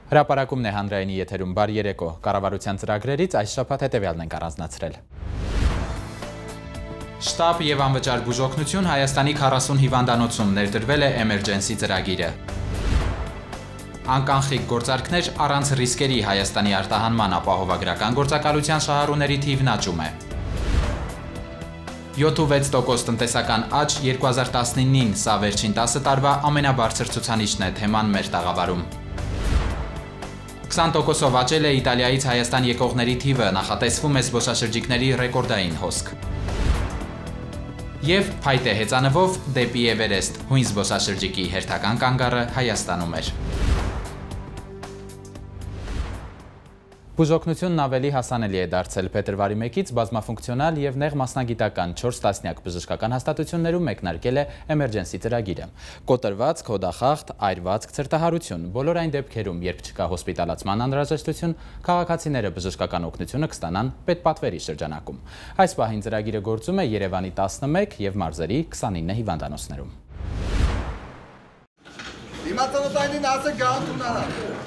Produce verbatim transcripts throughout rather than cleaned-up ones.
Հրապարակումն է հանրայինի եթերում բար երեկո, կառավարության ծրագրերից այս շաբաթ հետևյալն ենք առանձնացրել։ Շտապ և անվճար բուժօգնություն Հայաստանի քառասուն հիվանդանոցում ներդրվել է էմերջենսի ծրագիրը։ Անկանխիկ գործարքներ առանց ռիսկերի Հայաստանի արտահանման ապահովագրական գործակալության շահառուների թիվն աճում է։ յոթ ու վեց տոկոս տնտեսական աճ երկու հազար տասնինին, սա վերջին տասը տարվա ամենաբարձր ցուցանիշն է թեման մեր տաղավարում։ քսան տոկոսով աճել է Իտալիայից Հայաստան եկողների թիվը, նախատեսվում է զբոսաշրջիկների ռեկորդային հոսք։ Եվ փայտե հեծանվով դեպի Էվերեստ, հույն զբոսաշրջիկի հերթական կանգառը Հայաստանում էր։ Բուժօգնությունն ավելի հասանելի է դարձել փետրվարի մեկից բազմաֆունկցիոնալ և նեղ մասնագիտական չորս տասնյակ բժշկական հաստատություններում մեկնարկել է էմերջենսի ծրագիրը։ Կոտրվածք, հոդախախտ, այրվածք, ցրտահարություն, բոլոր այն դեպքերում, երբ չկա հոսպիտալացման անհրաժեշտություն, քաղաքացիները բժշկական օգնությունը կստանան պետպատվերի շրջանակում։ Այս պահին ծրագիրը գործում է Երևանի տասնմեկ և մարզերի քսանինը հիվանդանոցներում։ Դիմացանոթային ասը գանթունանա։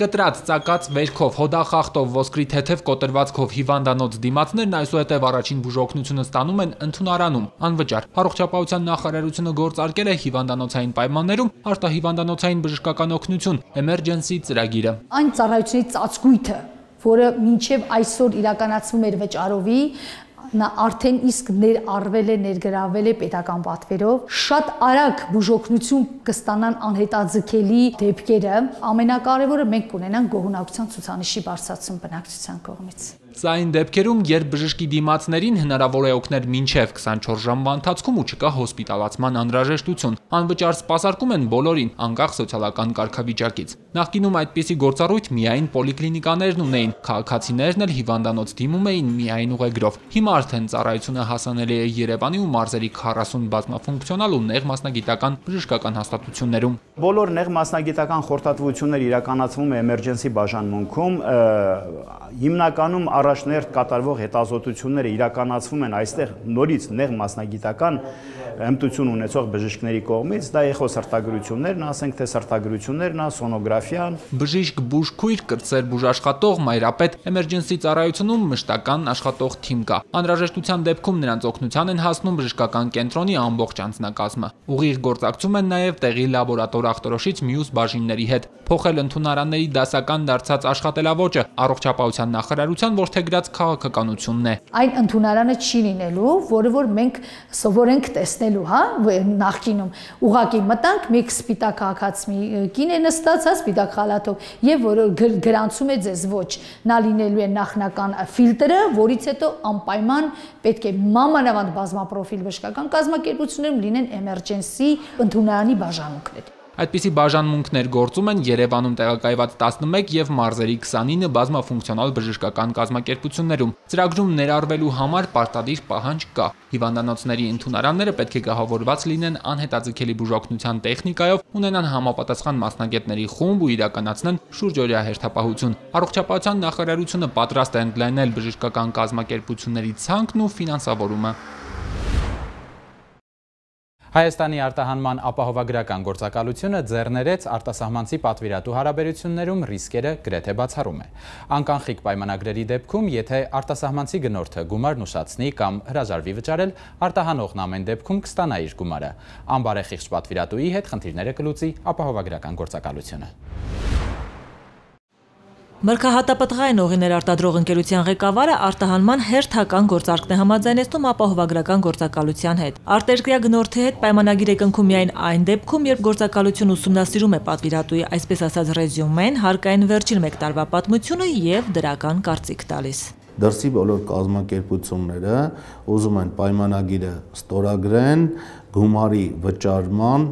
Կտրած, ծակած վերքով, հոդախախտով, ոսկրի թեթև կոտրվածքով հիվանդանոց դիմացներն այսուհետև առաջին բուժօգնությունը ստանում են ընդունարանում, անվճար։ Առողջապահության նախարարությունը գործարկել է հիվանդանոցային պայմաններում արտահիվանդանոցային բժշկական օգնություն էմերջենսի ծրագիրը։ Այն ծառայությունների ծածկույթը, որը մինչև այսօր իրականացվում էր վճարովի, նա արդեն իսկ ներառվել է, ներգրավել է պետական պատվերով, շատ արագ բուժօգնություն կստանան անհետաձգելի դեպքերը, ամենակարևորը մենք կունենանք գոհունակության ցուցանիշի բարձրացում բնակչության կողմից։ Սա այն դեպքերում, երբ բժշկի դիմացներին հնարավոր է օգնել մինչև քսանչորս ժամվա ընթացքում ու չկա հոսպիտալացման անհրաժեշտություն, անվճար սպասարկում են բոլորին, անկախ սոցիալական կարգավիճակից։ Նախկինում այդպիսի գործառույթ միայն պոլիկլինիկաներն ունեին, քաղաքացիներն էլ հիվանդանոց դիմում էին միայն ուղեգրով։ Հիմա արդեն ծառայությունը հասանելի է Երևանի ու մարզերի քառասուն բազմաֆունկցիոնալ ու նեղ մասնագիտական բժշկական հաստատություններում։ Բոլոր նեղ մասնագիտական խորհրդատվությունները իրականացվում է էմերջենսի բաժանմունքում, հիմնականում առաջներդ կատարվող հետազոտությունները իրականացվում են այստեղ նորից նեղ մասնագիտական հմտություն ունեցող բժիշկների կողմից, դա էխոսրտագրություններն, ասենք թե սրտագրություններն, սոնոգրաֆիան։ Բժիշկ, բուժքույր, կրտսեր բուժաշխատող, մայրապետ, էմերջենսի ծառայությունում մշտական աշխատող թիմ կա։ Անհրաժեշտության դեպքում նրանց օգնության են հասնում բժշկական կենտրոնի ամբողջ անձնակազմը։ Ուղիղ գործակցում են նաև տեղի լաբորատոր ախտորոշիչ մյուս բաժինների հետ, փոխել ընդունարանների դասական դարձած աշխատելավոճը, առողջապահության նախարարության որդեգրած քաղաքականությունն է։ Այն ընդունարանը չի լինելու, որը որ մենք սովորենք տեսնելու, հա, նախկինում ուղակի մտանք, մեկ սպիտակ քաղաքացի կին է նստած, հա, սպիտակ խալաթով, եւ որը գրանցում է ձեզ ոչ, նա լինելու է նախնական ֆիլտրը, որից հետո անպայման պետք է մանավանդ բազմապրոֆիլ բժշկական կազմակերպություններում լինեն էմերջենսի ընդունարանի բաժանմունքներ։ Այդպիսի բաժանմունքներ գործում են Երևանում տեղակայված տասնմեկ և մարզերի քսանինը բազմաֆունկցիոնալ բժշկական կազմակերպություններում։ Ծրագրում ներառվելու համար պարտադիր պահանջ կա։ Հիվանդանոցների ընդունարանները պետք է գահավորված լինեն անհետաձգելի բուժօգնության տեխնիկայով, ունենան համապատասխան մասնագետների խումբ ու իրականացնեն շուրջօրյա հերթապահություն։ Առողջապահության նախարարությունը պատրաստ է ընդլայնել բժշկական կազմակերպությունների ցանկն ու ֆինանսավորումը։ Հայաստանի արտահանման ապահովագրական գործակալությունը ձեռներեց արտասահմանցի պատվիրատու հարաբերություններում ռիսկերը գրեթե բացառում է։ Անկանխիկ պայմանագրերի դեպքում, եթե արտասահմանցի գնորդը գումարն ուշացնի կամ հրաժարվի վճարել, արտահանողն ամեն դեպքում կստանա իր գումարը։ Անբարեխիղճ պատվիրատուի հետ խնդիրները կլուծի ապահովագրական գործակալությունը։ Մրգահատապտղային օղիներ արտադրող ընկերության ղեկավարը արտահանման հերթական գործարքն է համաձայնեցնում ապահովագրական գործակալության հետ։ Արտերկրյա գնորդի հետ պայմանագիր է կնքում միայն այն դեպքում, երբ գործակալությունը ուսումնասիրում է պատվիրատուի, այսպես ասած ռեզյումեն, հարկային վերջին մեկ տարվա պատմությունը եւ դրական կարծիք տալիս։ Դրսի բոլոր կազմակերպությունները ուզում են պայմանագիրը ստորագրեն գումարի վճարման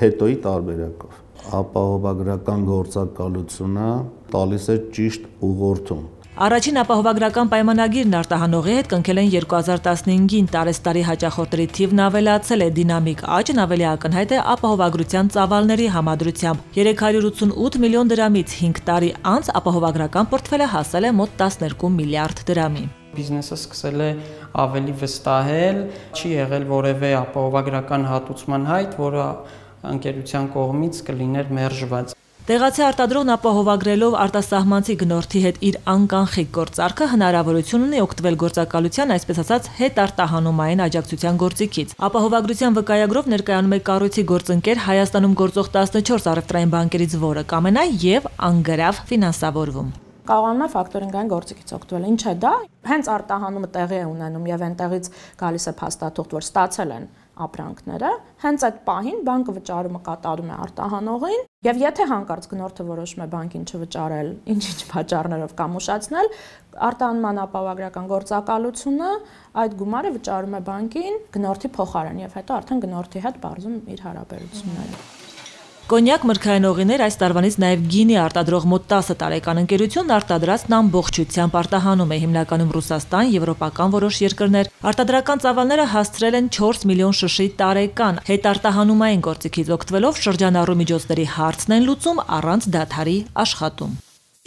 հետոյի տարբերակով։ Ապահովագրական գործակալությունը տալիս է ճիշտ ուղղորդում։ Առաջին ապահովագրական պայմանագիրն արտահանողի հետ կնքել են երկու հազար տասնհինգին, տարեստարի հաճախորդների թիվն ավելացել է, դինամիկ աճն ավելի ակնհայտ է ապահովագրության ծավալների համադրությամբ։ երեք հարյուր ութսունութ միլիոն դրամից հինգ տարի անց ապահովագրական պորտֆելը հասել է մոտ տասներկու միլիարդ դրամի։ Բիզնեսը սկսել է ավելի վստահել, չի եղել որևէ ապահովագրական հատուցման հայտ, որը ընկերության կողմից կլիներ մերժված։ Տեղացի արտադրողն ապահովագրելով արտասահմանցի գնորդի հետ իր անկանխիկ գործարքը հնարավորություն ունի օգտվել գործակալության, այսպես ասած, հետարտահանումային աջակցության գործիքից։ Ապահովագրության վկայագրով ներկայանում է կառույցի գործընկեր Հայաստանում գործող տասնչորս առևտրային բանկերից որը կամենա եւ անգրավ ֆինանսավորվում։ Կարողանում է ֆակտորինգային գործիքից օգտվել։ Ինչ է դա։ Հենց արտահանումը տեղի է ունենում եւ այնտեղից գալիս է փաստաթուղթ, որ ստացել են ապրանքները, հենց այդ պահին բանկը վճարումը կատարում է արտահանողին եւ եթե հանկարծ գնորդը որոշում է բանկին չվճարել, ինչ-ինչ պատճառներով կամ ուշացնել, արտահանման ապահովագրական գործակալությունը այդ գումարը վճարում է բանկին գնորդի փոխարեն եւ հետո արդեն գնորդի հետ բարձում իր հարաբերությունները։ Կոնյակ մրգային օղիներ այս տարվանից նաև գինի արտադրող մոտ տասը տարեկան ընկերությունն արտադրածն ամբողջությամբ արտահանում է հիմնականում Ռուսաստան, եվրոպական որոշ երկրներ։ Արտադրական ծավալները հասցրել են չորս միլիոն շշի տարեկան։ Հետարտահանումային գործիքից օգտվելով շրջանառու միջոցների հարցն են լուծում առանց դադարի աշխատում։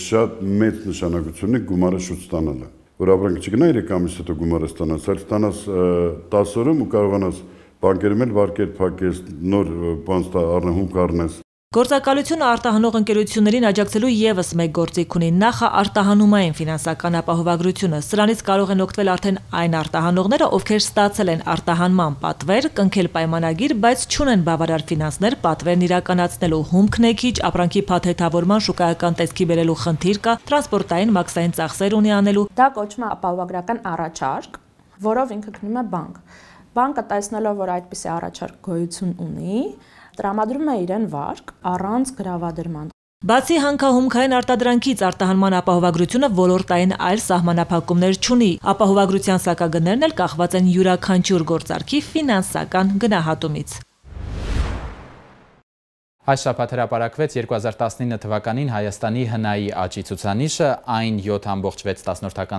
Շատ մեծ նշանակություն ունի գումարը շուտ ստանալը, որ ապրանքը չգնա երեք ամիս հետո գումարը ստանաս, այլ ստանաս տասը օրում ու կարողանաս բանկերում էլ վարկեր փակես, նոր բան առնահում կառնես։ Գործակալությունը արտահանող ընկերություններին աջակցելու եւս մեկ գործիք ունի նախա արտահանումային ֆինանսական ապահովագրությունը։ Սրանից կարող են օգտվել արդեն այն արտահանողները, ովքեր ստացել են արտահանման պատվեր, կնքել պայմանագիր, բայց չունեն բավարար ֆինանսներ պատվերն իրականացնելու։ Հումքն է քիչ, ապրանքի փաթեթավորման շուկայական տեսքի բերելու խնդիր կա, տրանսպորտային մաքսային ծախսեր ունի անելու։ Դա կոչվում է ապահովագրական առաջարկ, որով ինքը գնում է բանկ։ Բանկը տեսնելով, որ այդպիսի առաջարկ գոյություն ունի, տրամադրում է իրեն վարկ առանց գրավադրման։ Բացի հանքահումքային արտադրանքից արտահանման ապահովագրությունը ոլորտային այլ սահմանափակումներ չունի։ Ապահովագրության սակագներն էլ կախված են յուրաքանչյուր գործարքի ֆինանսական գնահատումից։ Այս շաբաթ հրապարակվեց երկու հազար տասնինը թվականին Հայաստանի հնայի աճի ցուցանիշը, այն յոթ կόμμα վեց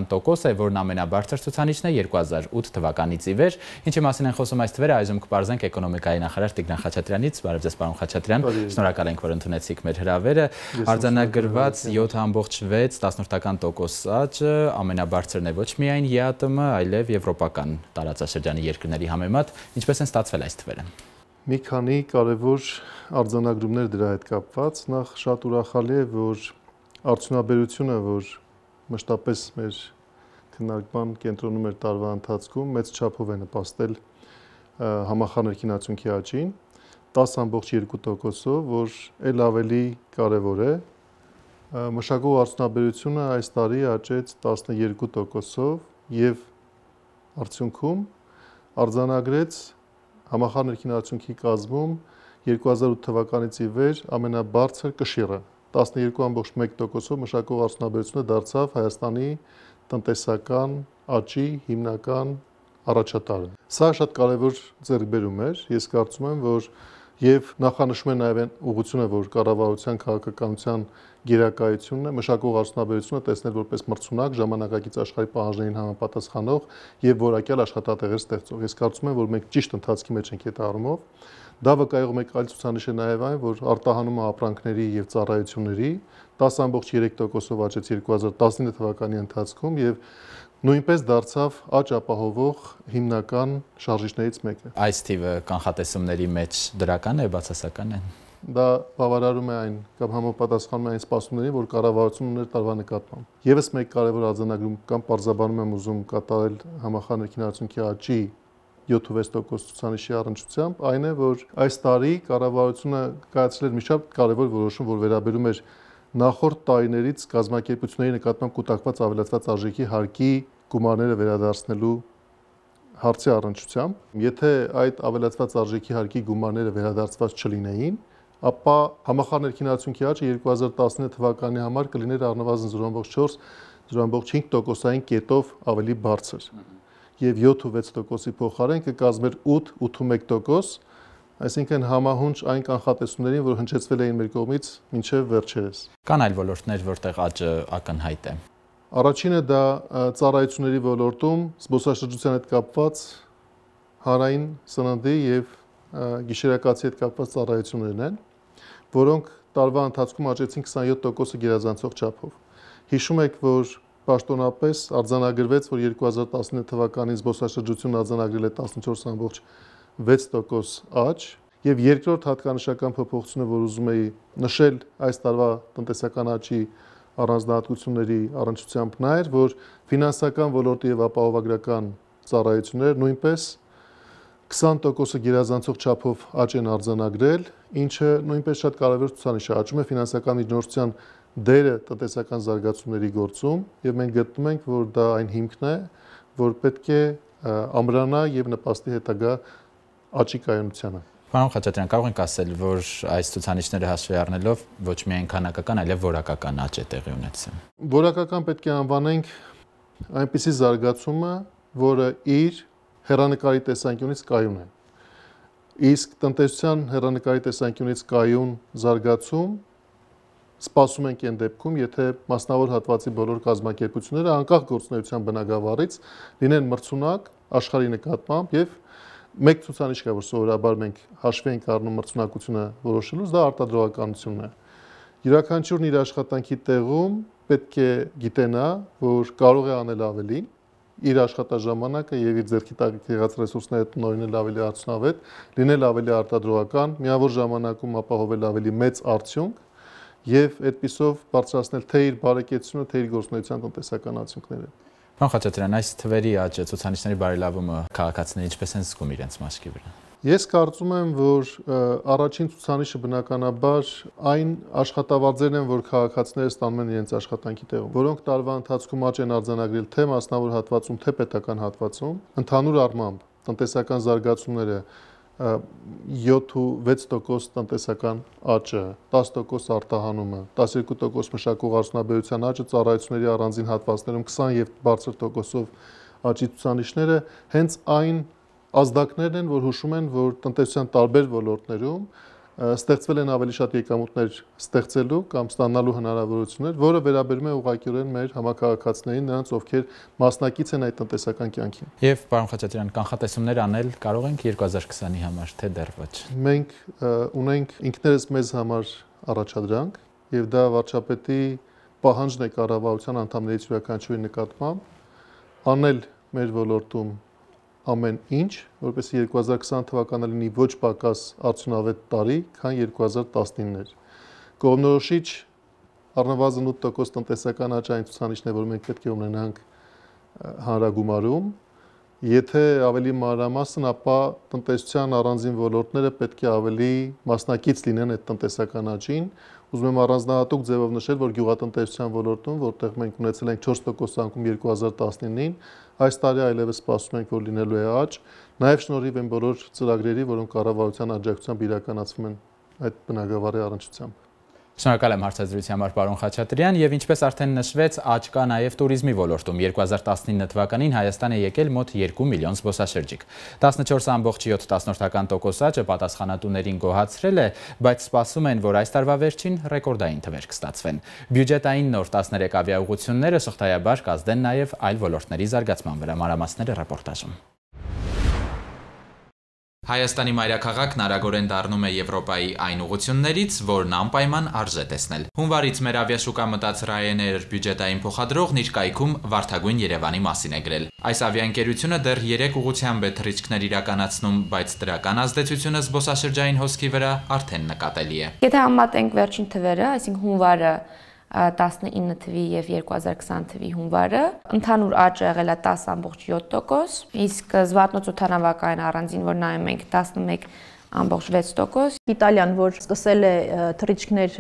տոկոս է, որն ամենաբարձր ցուցանիշն է երկու հազար ութ թվականից ի վեր, ինչի մասին են խոսում այս թվերը, այժմ կպարզենք էկոնոմիկայի նախարար Տիգրան Խաչատրյանից։ Բարև ձեզ, պարոն Խաչատրյան, շնորհակալ ենք, որ ընդունեցիք մեր հրավերը։ Արձանագրված յոթ կόμμα վեց տոկոս աճը ամենաբարձրն է ոչ միայն ԵԱՏՄ, այլև եվրոպական տարածաշրջանի երկրների համեմատ, ինչպես են ստացվել այս թվերը։ Մի քանի կարևոր արձանագրումներ դրա հետ կապված, նախ շատ ուրախալի է, որ արդյունաբերությունը, որ մշտապես մեր քննարկման կենտրոնում էր տարվա ընթացքում, մեծ չափով է նպաստել համախառն ներքին աճին, տասը կόμμα երկու տոկոսով, որ ել ավելի կարևոր է։ Մշակող արդյունաբերությունը այս տարի աճեց տասնյոթ տոկոսով եւ արդյունքում արձանագրեց համախառն ներքին արդյունքի կազմում երկու հազար ութ թվականից ի վեր ամենաբարձր կշիռը տասնյոթ կόμμα մեկ տոկոսով մշակող արդյունաբերությունը դարձավ Հայաստանի տնտեսական աճի հիմնական առաջատարը։ Սա շատ կարևոր ձեռքբերում էր, ես կարծում եմ, որ եւ նախանշում է նաեւ այն ուղղությունը, որ կառավարության քաղաքականության գերակայությունն է մշակող արդյունաբերությունը տեսնել որպես մրցունակ, ժամանակակից աշխարհի պահանջներին համապատասխանող եւ որակյալ աշխատատեղեր ստեղծող։ Ես կարծում եմ, որ մենք ճիշտ ընթացքի մեջ ենք այդ առումով։ Դա վկայող մեկ այլ ցուցանիշ է նաեւ այն, որ արտահանումը ապրանքների եւ ծառայությունների տասը կόμμα երեք տոկոսով աճեց երկու հազար տասնինը թվականի ընթացքում եւ նույնպես դարձավ աճ ապահովող հիմնական շարժիչներից մեկը։ Այս թիվը կանխատեսումների մեջ դրական է, բացասական է։ Դա բավարարում է այն կամ համապատասխանում է այն սպասումներին, որ կառավարությունն ուներ տարվա նկատմամբ։ Եվս մեկ կարևոր արձանագրում կամ պարզաբանում եմ ուզում կատարել համախառն ներքին արդյունքի աճի յոթ կόμμα վեց տոկոս ցուցանիշի առնչությամբ, այն է, որ այս տարի կառավարությունը կայացրել էր մի շատ կարևոր որոշում, որ վերաբերում էր նախորդ տարիներից կազմակերպությունների նկատմամբ կուտակված ավելացված արժեքի հարկի գումարները վերադարձնելու հարցի առնչությամբ։ Եթե այդ ավելացված արժեքի հարկի գումարները վերադարձված չլինեին, ապա համախառն ներքին արդյունքի աճը երկու հազար տասնինը թվականի համար կլիներ առնվազն զրո կόμμα չորս - զրո կόμma հինգ տոկոսային կետով ավելի բարձր։ Եվ յոթ կόμμα վեց տոկոսի փոխարեն կկազմեր ութ ութ կόμma մեկ տոկոս, այսինքն համահունչ այն կանխատեսումներին, որ հնչեցվել էին մեր կողմից մինչև վերջերս։ Կան այլ ոլորտներ, որտեղ աճը ակնհայտ է։ Առաջինը դա ծառայությունների ոլորտում զբոսաշրջության հետ կապված հանրային սննդի եւ գիշերակացի հետ կապված ծառայություններն են, որոնք տարվա ընթացքում աճեցին քսանյոթ տոկոսը գերազանցող չափով։ Հիշում եք, որ պաշտոնապես արձանագրվեց, որ երկու հազար տասնինը թվականին զբոսաշրջությունն արձանագրել է տասնչորս կόμma վեց տոկոս աճ, Եվ երկրորդ հատկանշական փոփոխությունը, որ ուզում էի նշել այս տարվա տնտեսական աճի առանձնահատկությունների առնչությամբ նա էր, որ ֆինանսական ոլորտի եւ ապահովագրական ծառայությունները նույնպես քսան տոկոսը գերազանցող չափով աճ են արձանագրել, ինչը նույնպես շատ կարևոր ցուցանիշ է, աճում է ֆինանսական միջնորդության դերը տնտեսական զարգացումների գործում եւ մենք գտնում ենք, որ դա այն հիմքն է, որ պետք է ամրանա եւ նպաստի հետագա աճի կայունությանը։ Պարոն Խաչատրյան, կարող ենք ասել, որ այս ցուցանիշները հաշվի առնելով ոչ միայն քանակական, այլև որակական աճ է տեղի ունեցել։ Որակական պետք է անվանենք այնպիսի զարգացումը, որը իր հեռանկարի տեսանկյունից կայուն է։ Իսկ տնտեսության հեռանկարի տեսանկյունից կայուն զարգացում սպասում ենք այն դեպքում, եթե մասնավոր հատվածի բոլոր կազմակերպությունները անկախ գործունեության բնագավառից լինեն մրցունակ աշխարհի նկատմամբ եւ մեկ ցուցանիշ կա, որ սովորաբար մենք հաշվի ենք առնում մրցունակությունը որոշելուց, դա արտադրողականությունն է։ Յուրաքանչյուրն իր աշխատանքի տեղում պետք է գիտենա, որ կարող է անել ավելի, իր աշխատաժամանակը եւ իր ձեռքի տակ եղած ռեսուրսները տնօրինել ավելի արդյունավետ, լինել ավելի արտադրողական, միավոր ժամանակում ապահովել ավելի մեծ արդյունք եւ այդպիսով բարձրացնել թե իր բարեկեցությունը, թե իր գործունեության տնտեսական արդյունքները։ Պարոն Խաչատրյան, այս թվերի աճը, ցուցանիշների բարելավումը քաղաքացիները ինչպես են զգում իրենց մաշկի վրա։ Ես կարծում եմ, որ առաջին ցուցանիշը բնականաբար այն աշխատավարձերն են, որ քաղաքացիները ստանում են իրենց աշխատանքի տեղում, որոնք տարվա ընթացքում աճ են արձանագրել թե մասնավոր հատվածում, թե պետական հատվածում, ընդհանուր առմամբ տնտեսական զարգացումները յոթ ու վեց տոկոս տնտեսական աճը, տասը տոկոս արտահանումը, տասներկու տոկոս մշակող արդյունաբերության աճը, ծառայությունների առանձին հատվածներում քսան եւ բարձր տոկոսով աճի ցուցանիշները հենց այն ազդակներն են, որ հուշում են, որ տնտեսության տարբեր ոլորտներում ստեղծվել են ավելի շատ եկամուտներ ստեղծելու կամ ստանալու հնարավորություններ, որը վերաբերում է ուղղակիորեն մեր համակարգացիներին, նրանց, ովքեր մասնակից են այդ տնտեսական կյանքին։ Եվ պարոն Խաչատրյան, կանխատեսումներ անել կարող ենք երկու հազար քսանի համար, թե դեռ ոչ։ Մենք ունենք ինքներս մեզ համար առաջադրանք, եւ դա վարչապետի պահանջն է կառավարության անդամներից յուրաքանչյուրի նկատմամբ անել մեր ոլորտում ամեն ինչ, որպեսզի երկու հազար քսան թվականը լինի ոչ պակաս արդյունավետ տարի, քան երկու հազար տասնինն էր։ Կողմնորոշիչ առնվազն ութ տոկոս տնտեսական աճ այն ցուցանիշն է, որ մենք պետք է ունենանք հանրագումարում։ Եթե ավելի մանրամասն, ապա տնտեսության առանձին ոլորտները պետք է ավելի մասնակից լինեն այդ տնտեսական աճին։ Ուզում եմ առանձնահատուկ ձևով նշել, որ գյուղատնտեսության ոլորտում, որտեղ մենք ունեցել ենք չորս տոկոս անկում երկու հազար տասնինին, այս տարի այլևս սպասում ենք, որ լինելու է աճ, նաև շնորհիվ այն բոլոր ծրագրերի, որոնք կառավարության աջակցությամբ իրականացվում են այդ բնագավառի առնչությամբ։ Շնորհակալ եմ հարցազրույցի համար, պարոն Խաչատրյան, եւ ինչպես արդեն նշվեց, աճ կա նաև туриզմի ոլորտում։ երկու հազար տասնինը թվականին Հայաստան է եկել մոտ երկու միլիոն զբոսաշրջիկ։ տասնչորս կόμμα յոթ տոկոս աճը պատասխանատուներին գոհացրել է, բայց սպասում են, որ այս տարվա վերջին ռեկորդային թվեր կստացվեն։ Բյուջետային նոր տասներեք ավիաուղղությունները շղթայաբար կազդեն նաև այլ ոլորտների զարգացման վրա։ Մանրամասները ռեպորտաժում։ Հայաստանի մայրաքաղաքն արագորեն դառնում է Եվրոպայի այն ուղղություններից, որն անպայման արժե տեսնել։ Հունվարից մեր ավիաշուկա մտած Ryanair բյուջետային փոխադրողն իր կայքում վարդագույն Երևանի մասին է գրել։ Այս ավիաընկերությունը դեռ երեք ուղղությամբ է թռիչքներ իրականացնում, բայց դրական ազդեցությունը զբոսաշրջային հոսքի վրա արդեն նկատելի է։ Եթե համատենք վերջին թվերը, այսինքն հունվարը տասնինը թվի եւ երկու հազար քսան թվի հունվարը ընդհանուր աճը եղել է տասը կόμμα յոթ տոկոս, իսկ զվարթնոցօդանավակայան առանձին, որ նայում ենք տասնմեկ կόμμα վեց տոկոս։ Իտալիան, որ սկսել է թռիչքներ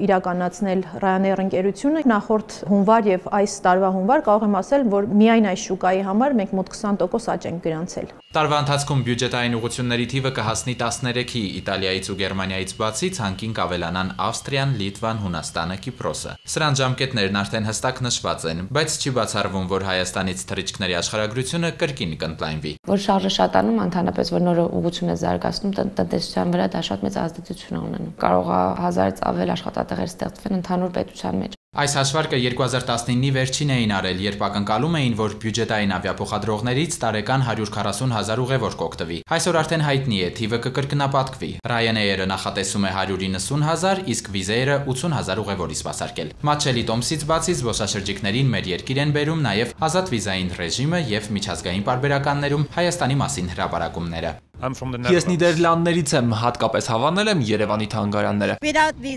իրականացնել Ryanair ընկերությունը, նախորդ հունվար եւ այս տարվա հունվար կարող եմ ասել, որ միայն այս շուկայի համար մենք մոտ քսան տոկոս աճ ենք գրանցել։ Տարվա ընթացքում բյուջետային ուղղությունների թիվը կհասնի տասներեքի, Իտալիայից ու Գերմանիայից բացի ցանկին կավելանան Ավստրիան, Լիտվան, Հունաստանը, Կիպրոսը։ Սրանց ժամկետներն արդեն հստակ նշված են, բայց չի բացառվում, որ Հայաստանից թռիչքների աշխարհագրությունը կրկին կընդլայնվի։ Որ շարժը շատանում, ընդհանրապես որ նոր ուղղություն է զարգացնում, տնտեսության վրա դա շատ մեծ ազդեցություն է ունենում։ Կարող է հազարից ավել աշխատատեղեր ստեղծվեն ընդհանուր պետության մեջ։ Այս հաշվարկը երկու հազար տասնինի վերջին էին արել, երբ ակնկալում էին, որ բյուջետային ավիափոխադրողներից տարեկան հարյուր քառասուն հազար ուղևոր կօգտվի։ Այսօր արդեն հայտնի է, թիվը կկրկնապատկվի։ Ryanair-ը նախատեսում է հարյուր իննսուն հազար, իսկ Wizz Air-ը ութուն հազար ուղևորի սպասարկել։ Մատչելի տոմսից բացի զբոսաշրջիկներին մեր երկիր են բերում նաև ազատ վիզային ռեժիմը եւ միջազգային պարբերականներում Հայաստանի մասին հրապարակումները։ Ես Նիդերլանդներից եմ, հատկապես հավանել եմ Երևանի թանգարանները։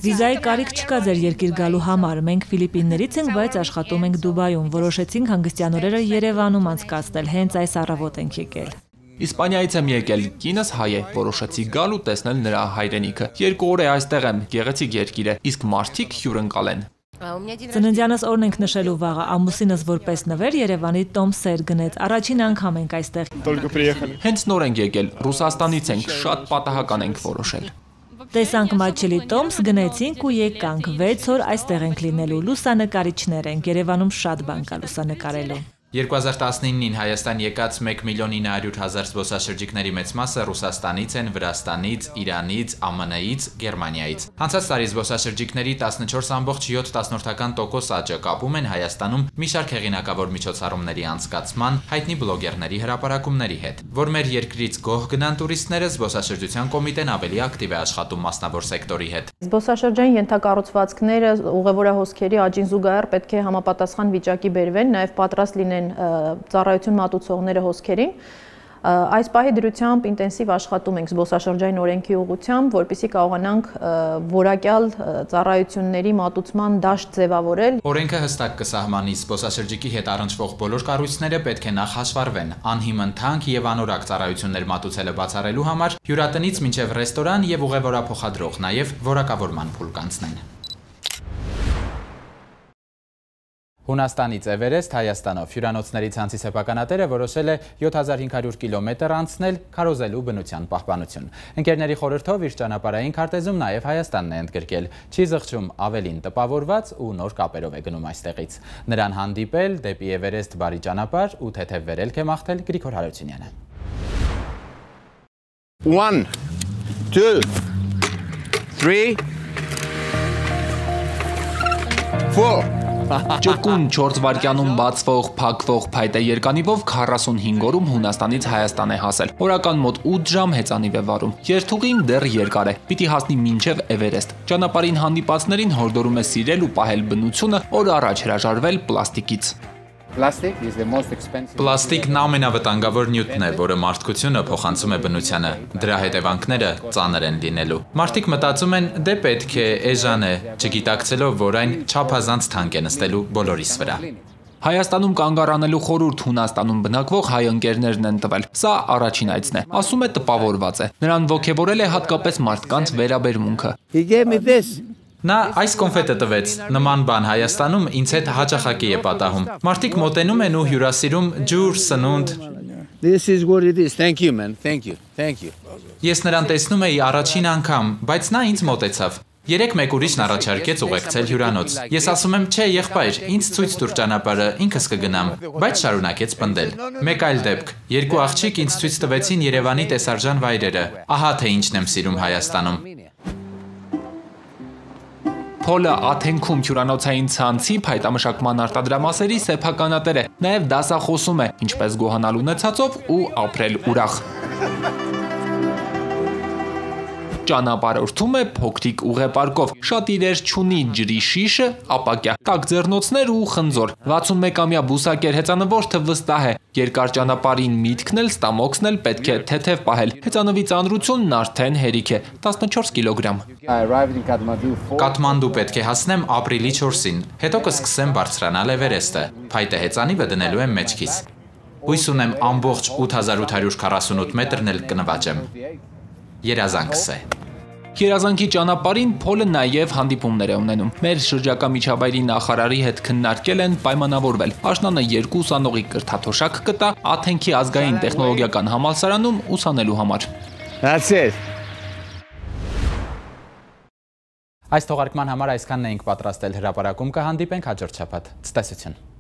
Վիզայի կարիք չկա ձեր երկիր գալու համար։ Մենք Ֆիլիպիններից ենք, բայց աշխատում ենք Դուբայում։ Որոշեցինք հանգստյան օրերը Երևանում անցկացնել, հենց այս առավոտ ենք եկել։ Իսպանիայից եմ եկել, կինս հայ է, որոշեցի գալ ու տեսնել նրա հայրենիքը։ Երկու օր է այստեղ եմ, գեղեցիկ երկիր է, իսկ մարդիկ հյուրընկալ են։ Ծննդյանս օրն ենք նշելու վաղը, ամուսինս որպես նվեր Երևանի Տոմ սեր գնեց, առաջին անգամ ենք այստեղ։ Հենց նոր ենք եկել, Ռուսաստանից ենք, շատ պատահական ենք որոշել։ Տեսանք մատչելի Տոմս, գնեցինք ու եկանք, վեց օր այստեղ ենք լինելու, լուսանկարիչներ ենք, Երևանում շատ բան կա լուսանկարելու։ երկու հազար տասնինին Հայաստան եկած մեկ միլիոն ինը հարյուր հազար զբոսաշրջիկների մեծ մասը Ռուսաստանից են, Վրաստանից, Իրանից, ԱՄՆ-ից, Գերմանիայից։ Անցած տարի զբոսաշրջիկների տասնչորս ամբողջ յոթ տոկոս աճը կապում են Հայաստանում մի շարք հեղինակավոր միջոցառումների անցկացման, հայտնի բլոգերների հրապարակումների հետ։ Որ մեր երկրից գոհ գնան տուրիստները, զբոսաշրջության կոմիտեն ավելի ակտիվ է աշխատում մասնավոր սեկտորի հետ։ Զբոսաշրջային ենթակառուցվածքները ուղևորահոսքերի աճին զուգահեռ պետք է համապատասխան վիճակի բերվեն, նաև պատրաստ լինեն ծառայություն մատուցողները հոսքերին։ Այս պահի դրությամբ ինտենսիվ աշխատում ենք զբոսաշրջային օրենքի ուղղությամբ, որպեսզի կարողանանք որակյալ ծառայությունների մատուցման դաշտ ձևավորել։ Օրենքը հստակ կսահմանի զբոսաշրջիկի հետ առնչվող բոլոր կառույցները պետք է նախ հաշվառվեն, անհիմն թանկ եւ անորակ ծառայություններ մատուցելը բացառելու համար հյուրատնից մինչեւ ռեստորան եւ ուղևորափոխադրող, նաեւ որակավորման փուլ կանցնեն։ Հունաստանից Էվերեստ Հայաստանով հյուրանոցների ցանցի սեփականատերը որոշել է յոթ հազար հինգ հարյուր կիլոմետր անցնել քարոզելու բնության պահպանություն։ Ընկերների խորհրդով իր ճանապարհային քարտեզում նաև Հայաստանն է ընդգրկել։ Չի զղջում ավելին տպավորված ու նոր կապերով է գնում այստեղից։ Նրան հանդիպել դեպի Էվերեստ բարի ճանապարհ ու թեթև վերելք է մաղթել Գրիգոր Հարությունյանը։ one two three four Ճկուն չորս վայրկյանում բացվող, փակվող փայտե երկանիվով քառասունհինգ օրում Հունաստանից Հայաստան է հասել։ Օրական մոտ ութ ժամ հեծանիվ է վարում։ Երթուղին դեռ երկար է, պիտի հասնի մինչև Էվերեստ։ Ճանապարհին հանդիպածներին հորդորում է սիրել ու պահել բնությունը, օր առաջ հրաժարվել պլաստիկից։ Պլաստիկն ամենավտանգավոր նյութն է, որը մարդկությունը փոխանցում է բնությանը։ Դրա հետևանքները ծանր են լինելու։ Մարդիկ մտածում են, դե պետք է էժան է, չգիտակցելով, որ այն չափազանց թանկ է նստելու բոլորիս վրա։ Հայաստանում կանգ առնելու խորհուրդ Հունաստանում բնակվող հայ ընկերներն են տվել։ Սա առաջին այցն է, ասում է տպավորված է։ Նրան ոգևորել է հատկապես մարդկանց վերաբերմունքը։ Նա այս կոնֆետը տվեց, նման բան Հայաստանում ինձ հետ հաճախակի է պատահում։ Մարդիկ մոտենում են ու հյուրասիրում ջուր, սնունդ։ This is what it is. Thank you man. Thank you. Thank you. Ես նրան տեսնում էի առաջին անգամ, բայց նա ինձ մոտեցավ։ Երեք մեկ ուրիշն առաջարկեց ուղեկցել հյուրանոց։ Ես ասում եմ, չէ, եղբայր, ինձ ցույց տուր ճանապարհը, ինքս կգնամ, բայց շարունակեց պնդել։ Մեկ այլ դեպք, երկու աղջիկ ինձ ցույց տվեցին Երևանի տեսարժան վայրերը։ Ահա թե ինչն եմ սիրում Հայաստանում։ Փոլը Աթենքում հյուրանոցային ցանցի փայտամշակման արտադրամասերի սեփականատեր է, նաև դասախոսում է, ինչպես գոհանալ ունեցածով ու ապրել ուրախ։ Ճանապարհորդում է փոքրիկ ուղեպարկով, շատ իրեր չունի ջրի շիշը, ապակյա, տաք ձեռնոցներ ու խնձոր։ վաթսունմեկամյա բուսակեր հեծանվորդը վստահ է, երկար ճանապարհին միտքն էլ ստամոքսն էլ պետք է թեթև պահել։ Հեծանվի ծանրությունն արդեն հերիք է, տասնչորս կիլոգրամ։ Կաթմանդու պետք է հասնեմ ապրիլի չորսին, հետո կսկսեմ բարձրանալ Էվերեստը։ Փայտե հեծանիվը դնելու եմ մեջքիս։ Հույս ունեմ ամբողջ ութ հազար ութ հարյուր քառասունութ մետրն էլ կնվաճեմ։ Երազանքս է։ Երազանքի ճանապարհին Փոլը նաև հանդիպումներ է ունենում։ Մեր շրջակա միջավայրի նախարարի հետ քննարկել են պայմանավորվել։ Աշնանը երկու ուսանողի կրթաթոշակ կտա Աթենքի ազգային տեխնոլոգիական համալսարանում ուսանելու համար։ That's it. Այս թողարկման համար այսքանն էինք պատրաստել, հրապարակում կհանդիպենք հաջորդ շաբաթ։ Ցտեսություն։